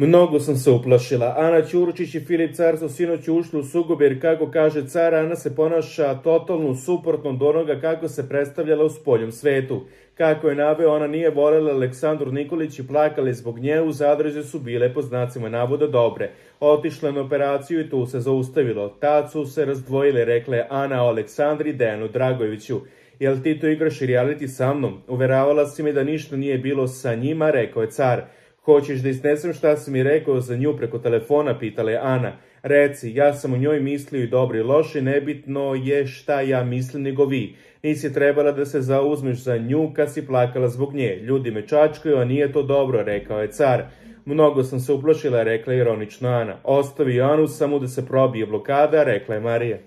Mnogo sam se uplašila. Ana Ćuručić i Filip Car su sinoć ušli u sukob jer, kako kaže car, Ana se ponaša totalno suprotno od onoga kako se predstavljala u spoljnom svetu. Kako je naveo, ona nije voljela Aleksandru Nikolić i plakali zbog nje, u zadrže su bile po znacima navoda dobre. Otišla na operaciju i tu se zaustavilo. Tad su se razdvojile, rekla je Ana o Aleksandri Dejanu Dragojeviću. Jel ti to igraš reality sa mnom? Uveravala si mi da ništa nije bilo sa njima, rekao je car. Hoćeš da iznesem šta si mi rekao za nju preko telefona, pitala je Ana. Reci, ja sam o njoj mislio i dobro i loše, nebitno je šta ja mislim nego vi. Nisi trebala da se zauzmeš za nju kad si plakala zbog nje. Ljudi me čačkaju, a nije to dobro, rekao je car. Mnogo sam se uplašila, rekla je ironično Ana. Ostavi Anu samo da se probije blokada, rekla je Marija.